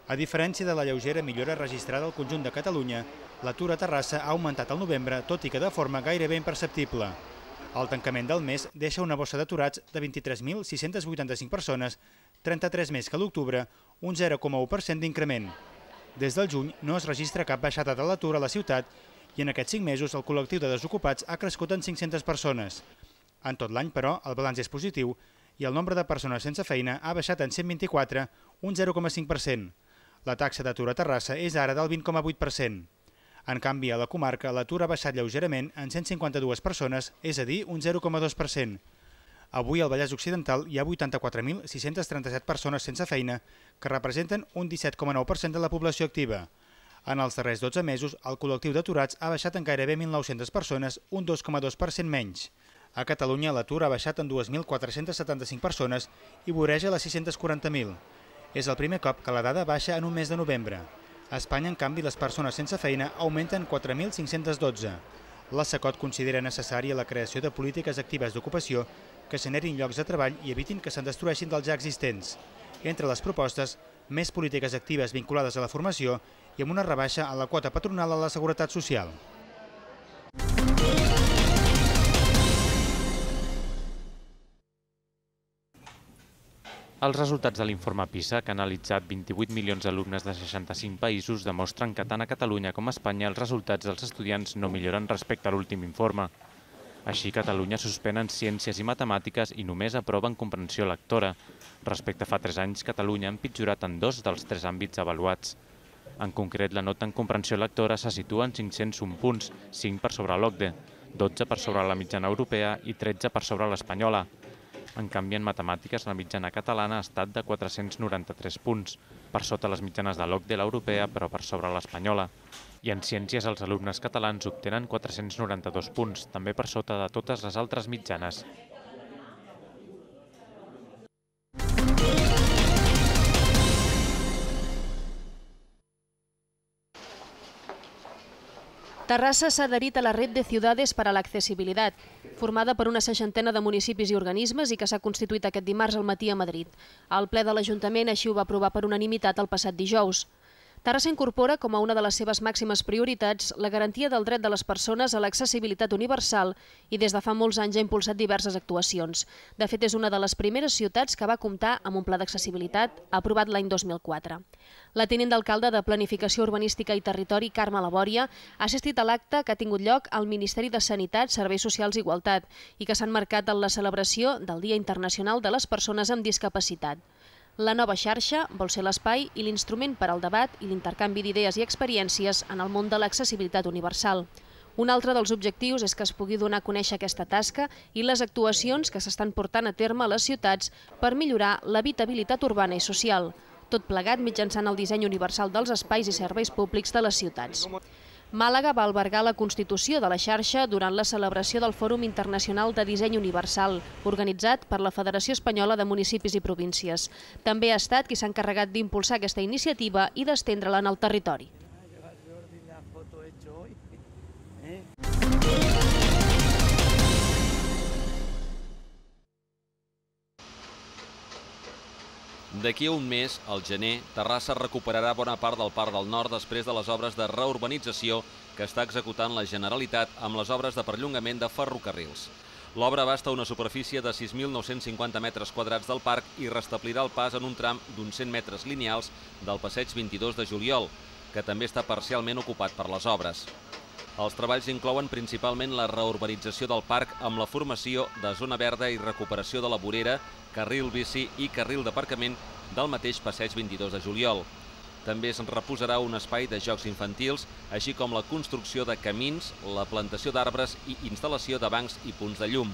A diferència de la lleugera millora registrada al conjunt de Catalunya, l'atur a Terrassa ha augmentat al novembre, tot i que de forma gairebé imperceptible. El tancament del mes deixa una bossa d'aturats de 23.685 persones, 33 més que l'octubre, un 0,1% d'increment. Des del juny no es registra cap baixada de l'atur a la ciutat i en aquests 5 mesos el col·lectiu de desocupats ha crescut en 500 persones. En tot l'any, però, el balanç és positiu i el nombre de persones sense feina ha baixat en 124, un 0,5%. La taxa d'atur a Terrassa és ara del 20,8%. En canvi, a la comarca l'atur ha baixat lleugerament en 152 persones, és a dir, un 0,2%. Avui al Vallès Occidental hi ha 84.637 persones sense feina, que representen un 17,9% de la població activa. En els darrers 12 mesos, el col·lectiu d'aturats ha baixat en gairebé 1.900 persones, un 2,2% menys. A Catalunya l'atur ha baixat en 2.475 persones i voreja les 640.000. És el primer cop que la dada baixa en un mes de novembre. A Espanya, en canvi, les persones sense feina augmenten 4.512. La SECOT considera necessària la creació de polítiques actives d'ocupació que generin llocs de treball i evitin que se'n destrueixin dels ja existents. Entre les propostes, més polítiques actives vinculades a la formació i amb una rebaixa a la quota patronal a la Seguretat Social. Els resultats de l'informe PISA, que ha analitzat 28 milions d'alumnes de 65 països, demostren que tant a Catalunya com a Espanya els resultats dels estudiants no milloren respecte a l'últim informe. Així, Catalunya suspèn en ciències i matemàtiques i només aprova en comprensió lectora. Respecte a fa 3 anys, Catalunya ha empitjorat en 2 dels 3 àmbits avaluats. En concret, la nota en comprensió lectora se situa en 501 punts, 5 per sobre l'OCDE, 12 per sobre la mitjana europea i 13 per sobre l'espanyola. En canvi, en matemàtiques, la mitjana catalana ha estat de 493 punts, per sota les mitjanes de l'OCDE, l'europea, però per sobre l'espanyola. I en ciències, els alumnes catalans obtenen 492 punts, també per sota de totes les altres mitjanes. Terrassa s'ha adherit a la Red de Ciudades para la Accesibilidad, formada per una 60ena de municipis i organismes i que s'ha constituït aquest dimarts al matí a Madrid. El ple de l'Ajuntament així ho va aprovar per unanimitat el passat dijous. Terrassa incorpora com a una de les seves màximes prioritats la garantia del dret de les persones a l'accessibilitat universal i des de fa molts anys ha impulsat diverses actuacions. De fet, és una de les primeres ciutats que va comptar amb un pla d'accessibilitat aprovat l'any 2004. La tinent d'alcalde de Planificació Urbanística i Territori, Carme Labòria, ha assistit a l'acte que ha tingut lloc al Ministeri de Sanitat, Serveis Socials i Igualtat i que s'ha enmarcat en la celebració del Dia Internacional de les Persones amb Discapacitat. La nova xarxa vol ser l'espai i l'instrument per al debat i l'intercanvi d'idees i experiències en el món de l'accessibilitat universal. Un altre dels objectius és que es pugui donar a conèixer aquesta tasca i les actuacions que s'estan portant a terme a les ciutats per millorar l'habitabilitat urbana i social, tot plegat mitjançant el disseny universal dels espais i serveis públics de les ciutats. Màlaga va albergar la constitució de la xarxa durant la celebració del Fòrum Internacional de Disseny Universal, organitzat per la Federació Espanyola de Municipis i Províncies. També ha estat qui s'ha encarregat d'impulsar aquesta iniciativa i d'estendre-la en el territori. D'aquí a un mes, al gener, Terrassa recuperarà bona part del Parc del Nord després de les obres de reurbanització que està executant la Generalitat amb les obres de perllongament de ferrocarrils. L'obra abasta una superfície de 6.950 metres quadrats del parc i restablirà el pas en un tram d'uns 100 metres lineals del passeig 22 de juliol, que també està parcialment ocupat per les obres. Els treballs inclouen principalment la reurbanització del parc amb la formació de zona verda i recuperació de la vorera, carril bici i carril d'aparcament del mateix passeig 22 de juliol. També es reposarà un espai de jocs infantils, així com la construcció de camins, la plantació d'arbres i instal·lació de bancs i punts de llum.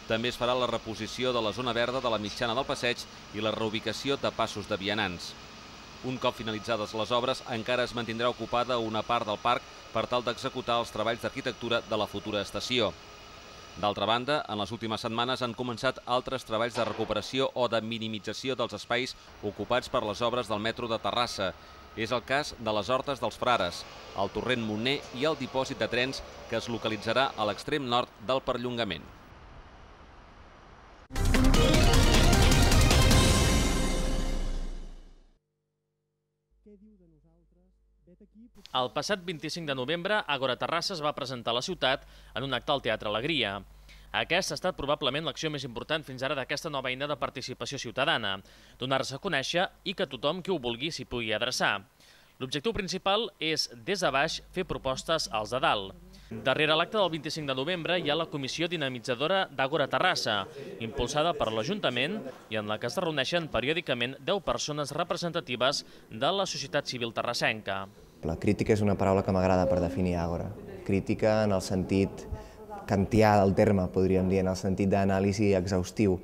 També es farà la reposició de la zona verda de la mitjana del passeig i la reubicació de passos de vianants. Un cop finalitzades les obres, encara es mantindrà ocupada una part del parc per tal d'executar els treballs d'arquitectura de la futura estació. D'altra banda, en les últimes setmanes han començat altres treballs de recuperació o de minimització dels espais ocupats per les obres del metro de Terrassa. És el cas de les Hortes dels Frares, el torrent Montner i el dipòsit de trens que es localitzarà a l'extrem nord del perllongament. El passat 25 de novembre, Àgora Terrassa es va presentar a la ciutat en un acte al Teatre Alegria. Aquesta ha estat probablement l'acció més important fins ara d'aquesta nova eina de participació ciutadana, donar-se a conèixer i que tothom qui ho vulgui s'hi pugui adreçar. L'objectiu principal és, des de baix, fer propostes als de dalt. Darrere l'acte del 25 de novembre hi ha la Comissió Dinamitzadora d'Àgora Terrassa, impulsada per l'Ajuntament i en la que es reuneixen periòdicament 10 persones representatives de la societat civil terrassenca. La crítica és una paraula que m'agrada per definir Àgora. Crítica en el sentit kantià del terme, podríem dir, en el sentit d'anàlisi exhaustiu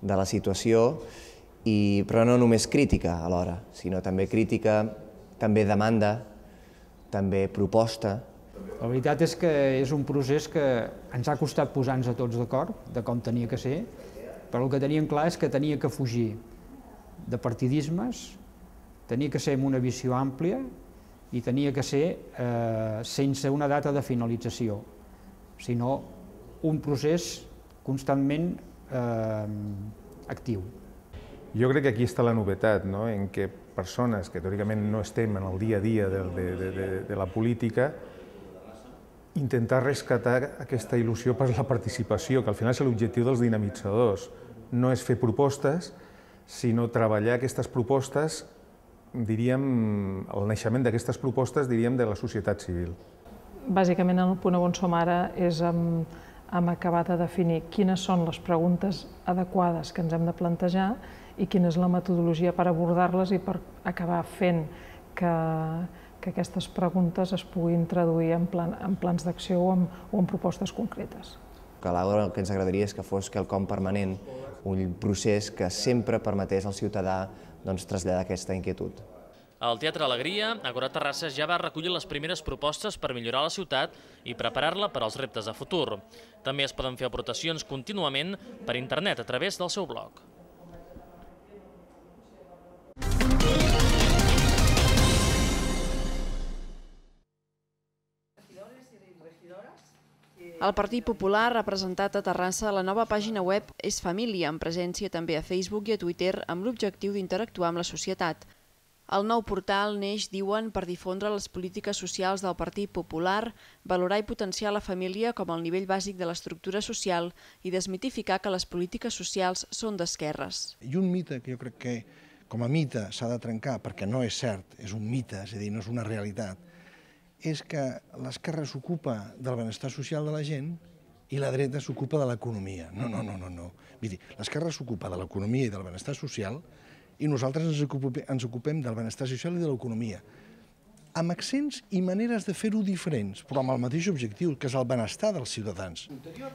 de la situació, però no només crítica alhora, sinó també crítica, també demanda, també proposta. La veritat és que és un procés que ens ha costat posar-nos a tots d'acord de com tenia que ser, però el que teníem clar és que tenia que fugir de partidismes, tenia que ser amb una visió àmplia i tenia que ser sense una data de finalització, sinó un procés constantment actiu. Jo crec que aquí està la novetat, en què persones que teòricament no estem en el dia a dia de la política, intentar rescatar aquesta il·lusió per la participació, que al final és l'objectiu dels dinamitzadors. No és fer propostes, sinó treballar aquestes propostes, diríem, el naixement d'aquestes propostes, diríem, de la societat civil. Bàsicament, el punt on som ara és hem acabat de definir quines són les preguntes adequades que ens hem de plantejar i quina és la metodologia per abordar-les i per acabar fent que aquestes preguntes es puguin traduir en plans d'acció o en propostes concretes. Que l'Àgora el que ens agradaria és que fos quelcom permanent, un procés que sempre permetés al ciutadà traslladar aquesta inquietud. Al Teatre Alegria, Àgora Terrassa ja va recollir les primeres propostes per millorar la ciutat i preparar-la per als reptes de futur. També es poden fer aportacions contínuament per internet a través del seu blog. El Partit Popular ha presentat a Terrassa la nova pàgina web És Família, amb presència també a Facebook i a Twitter, amb l'objectiu d'interactuar amb la societat. El nou portal neix, diuen, per difondre les polítiques socials del Partit Popular, valorar i potenciar la família com el nivell bàsic de l'estructura social i desmitificar que les polítiques socials són d'esquerres. I un mite que jo crec que com a mite s'ha de trencar, perquè no és cert, és un mite, és a dir, no és una realitat, és que l'esquerra s'ocupa del benestar social de la gent i la dreta s'ocupa de l'economia. No. Vull dir, l'esquerra s'ocupa de l'economia i del benestar social i nosaltres ens ocupem del benestar social i de l'economia, amb accents i maneres de fer-ho diferents, però amb el mateix objectiu, que és el benestar dels ciutadans.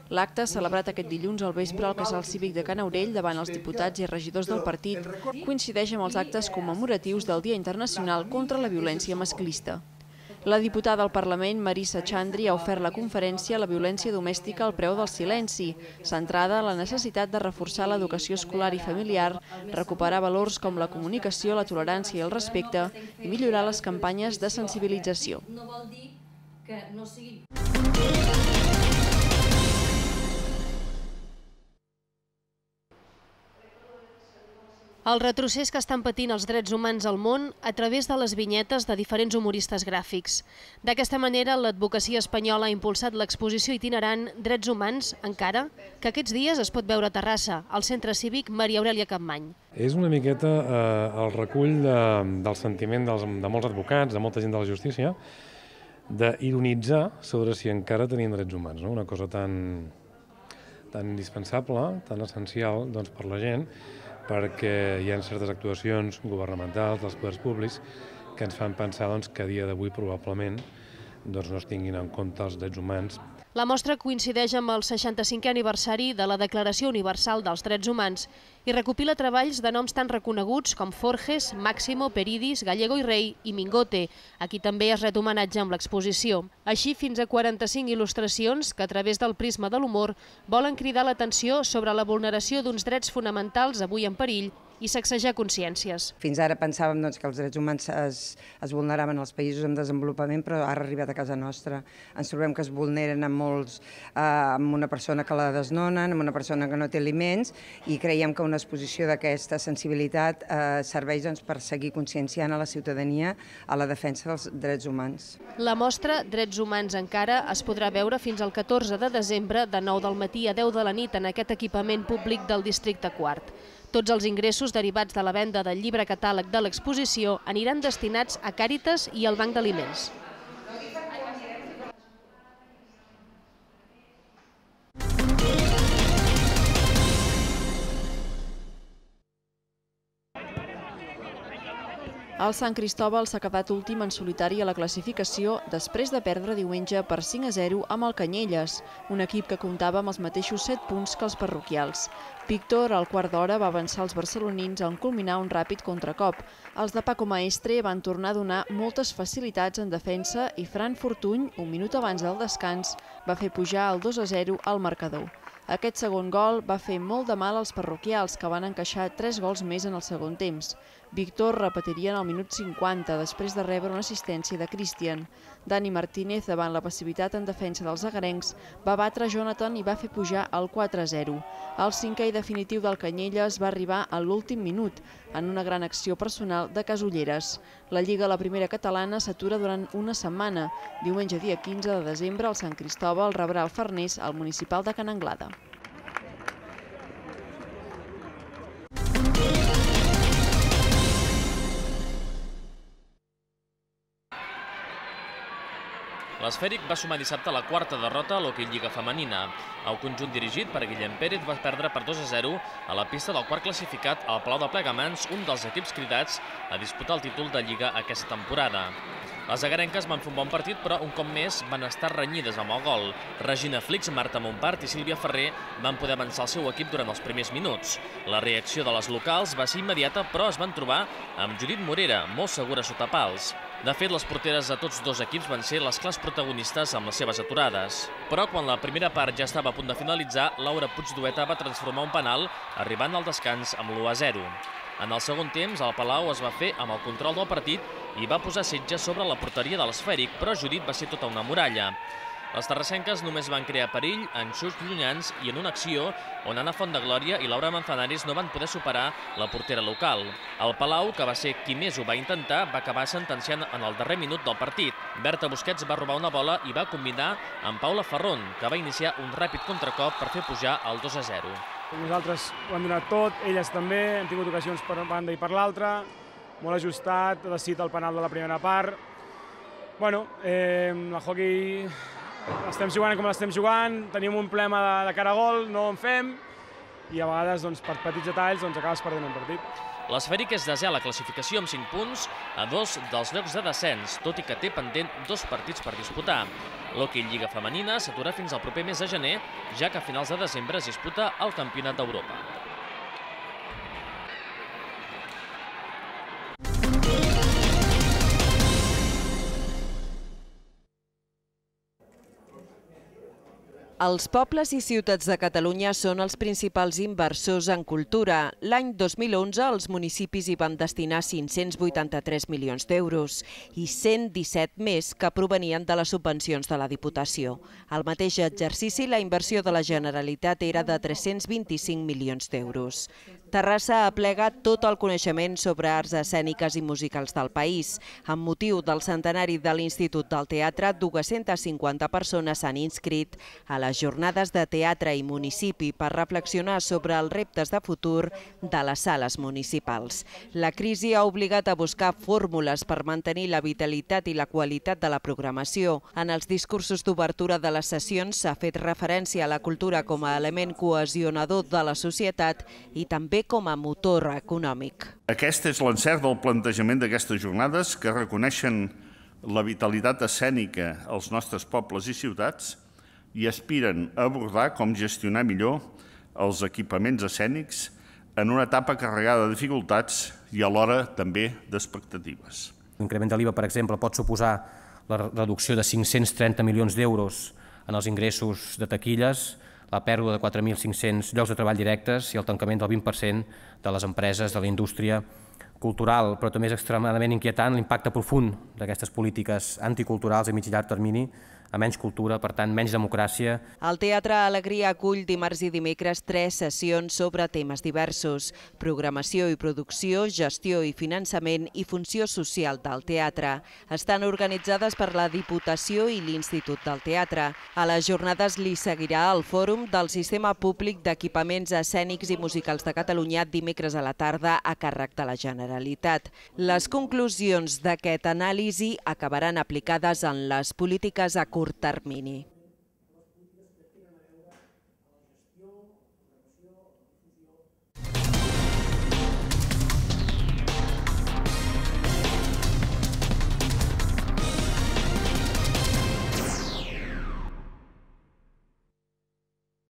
L'acte, celebrat aquest dilluns al vespre al Casal Cívic de Can Aurell davant els diputats i regidors del partit, coincideix amb els actes commemoratius del Dia Internacional contra la Violència Masclista. La diputada al Parlament, Marissa Chandri, ha ofert la conferència La violència domèstica al preu del silenci, centrada en la necessitat de reforçar l'educació escolar i familiar, recuperar valors com la comunicació, la tolerància i el respecte i millorar les campanyes de sensibilització. No vol dir que no sigui... El retrocés que estan patint els drets humans al món a través de les vinyetes de diferents humoristes gràfics. D'aquesta manera, l'advocacia espanyola ha impulsat l'exposició itinerant Drets Humans, encara, que aquests dies es pot veure a Terrassa, al Centre Cívic Maria Aurèlia Capmany. És una miqueta el recull del sentiment de molts advocats, de molta gent de la justícia, d'ironitzar sobre si encara tenim drets humans, una cosa tan indispensable, tan essencial per la gent, perquè hi ha certes actuacions governamentals dels poders públics que ens fan pensar que a dia d'avui probablement no es tinguin en compte els drets humans. La mostra coincideix amb el 65è aniversari de la Declaració Universal dels Drets Humans i recopila treballs de noms tan reconeguts com Forges, Máximo, Peridis, Gallego i Rey i Mingote, a qui també es ret homenatge amb l'exposició. Així, fins a 45 il·lustracions que, a través del prisma de l'humor, volen cridar l'atenció sobre la vulneració d'uns drets fonamentals avui en perill i sacsejar consciències. Fins ara pensàvem que els drets humans es vulneraven als països en desenvolupament, però ara ha arribat a casa nostra. Ens trobem que es vulneren amb una persona que la desnonen, amb una persona que no té aliments, i creiem que una exposició d'aquesta sensibilitat serveix per seguir conscienciant a la ciutadania a la defensa dels drets humans. La mostra Drets Humans Encara es podrà veure fins al 14 de desembre de 9 del matí a 10 de la nit en aquest equipament públic del districte quart. Tots els ingressos derivats de la venda del llibre catàleg de l'exposició aniran destinats a Càritas i al Banc d'Aliments. El Sant Cristòbal s'ha quedat últim en solitari a la classificació després de perdre diumenge per 5-0 amb el Canyelles, un equip que comptava amb els mateixos 7 punts que els parroquials. Víctor, al quart d'hora, va avançar els barcelonins en culminar un ràpid contracop. Els de Paco Maestre van tornar a donar moltes facilitats en defensa i Fran Fortuny, un minut abans del descans, va fer pujar el 2-0 al marcador. Aquest segon gol va fer molt de mal als parroquials, que van encaixar 3 gols més en el segon temps. Víctor repetiria en el minut 50, després de rebre una assistència de Cristian. Dani Martínez, davant la passivitat en defensa dels agarencs, va batre Jonathan i va fer pujar el 4-0. El cinquè i definitiu del Canyelles va arribar a l'últim minut, en una gran acció personal de Casulleres. La Lliga a la primera catalana s'atura durant una setmana. Diumenge dia 15 de desembre, el Sant Cristòbal rebrà el Farners al municipal de Ca n'Anglada. L'Esfèric va sumar dissabte la quarta derrota a l'Hockey Lliga femenina. El conjunt dirigit per Guillem Pérez va perdre per 2-0 a la pista del quart classificat al Palau de Plegamans, un dels equips cridats a disputar el títol de Lliga aquesta temporada. Les agarenques van fer un bon partit, però un cop més van estar renyides amb el gol. Regina Flix, Marta Montpart i Sílvia Ferrer van poder avançar el seu equip durant els primers minuts. La reacció de les locals va ser immediata, però es van trobar amb Judit Morera, molt segura sota pals. De fet, les porteres de tots dos equips van ser les clars protagonistes amb les seves aturades. Però quan la primera part ja estava a punt de finalitzar, Laura Puigdueta va transformar un penal, arribant al descans amb l'1-0. En el segon temps, el Palau es va fer amb el control del partit i va posar setge sobre la porteria de l'Esfèric, però Judit va ser tota una muralla. Les terrassenques només van crear perill en xuts llunyans i en una acció on Anna Fontdeglòria i Laura Manzanares no van poder superar la portera local. El Palau, que va ser qui més ho va intentar, va acabar sentenciant en el darrer minut del partit. Berta Busquets va robar una bola i va combinar amb Paula Ferron, que va iniciar un ràpid contracop per fer pujar el 2-0. Nosaltres ho hem donat tot, elles també, hem tingut ocasions per una banda i per l'altra, molt ajustat, ha decidit el penal de la primera part. Bueno, el hockey estem jugant com l'estem jugant, tenim un problema de cara a gol, no en fem, i a vegades per petits detalls acabes perdent un partit. L'Esfèric és desè a la classificació amb 5 punts a 2 dels llocs de descens, tot i que té pendent 2 partits per disputar. L'Hockey Lliga femenina s'atura fins al proper mes de gener, ja que a finals de desembre es disputa el Campionat d'Europa. Els pobles i ciutats de Catalunya són els principals inversors en cultura. L'any 2011 els municipis hi van destinar 583 milions d'euros i 117 més que provenien de les subvencions de la Diputació. Al mateix exercici, la inversió de la Generalitat era de 325 milions d'euros. Terrassa aplega tot el coneixement sobre arts escèniques i musicals del país. Amb motiu del centenari de l'Institut del Teatre, 250 persones s'han inscrit a les jornades de teatre i municipi per reflexionar sobre els reptes de futur de les sales municipals. La crisi ha obligat a buscar fórmules per mantenir la vitalitat i la qualitat de la programació. En els discursos d'obertura de les sessions s'ha fet referència a la cultura com a element cohesionador de la societat i també com a motor econòmic. Aquest és l'encert del plantejament d'aquestes jornades que reconeixen la vitalitat escènica als nostres pobles i ciutats i aspiren a abordar com gestionar millor els equipaments escènics en una etapa carregada de dificultats i alhora també d'expectatives. L'increment de l'IVA, per exemple, pot suposar la reducció de 530 milions d'euros en els ingressos de taquilles, la pèrdua de 4.500 llocs de treball directes i el tancament del 20% de les empreses de la indústria cultural, però també és extremadament inquietant l'impacte profund d'aquestes polítiques anticulturals a mig i llarg termini, a menys cultura, per tant, menys democràcia. El Teatre Alegria acull dimarts i dimecres 3 sessions sobre temes diversos: programació i producció, gestió i finançament i funció social del teatre. Estan organitzades per la Diputació i l'Institut del Teatre. A les jornades li seguirà el Fòrum del Sistema Públic d'Equipaments Escènics i Musicals de Catalunya dimecres a la tarda a càrrec de la Generalitat. Les conclusions d'aquest anàlisi acabaran aplicades en les polítiques a curt termini.